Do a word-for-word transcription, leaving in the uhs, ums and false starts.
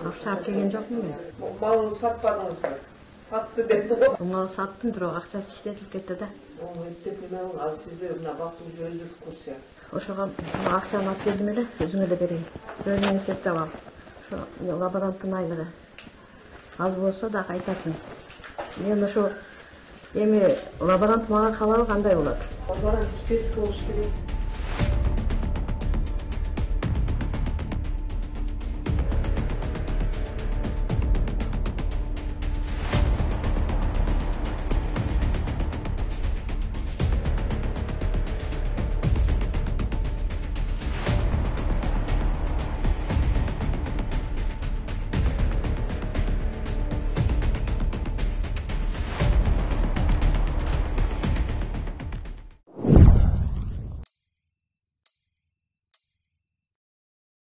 Акча алып келген жокмун мен. Малды сатпадыңызбы? Сатты депти го. Мал саттым, бирок акчасы иштетилип кетти да. Эптеп менен ал сиздер мына бактыңыз өзүлүп курса. Ошого акчаны алып келдим эле, өзүңө эле берейин. Өзүң эсептеп ал. Ошо лаборанттын айлыгы аз болсо да кайтасың. Мен ошо эми лаборант мага калабы кандай болот? Лаборант спец болуш керек.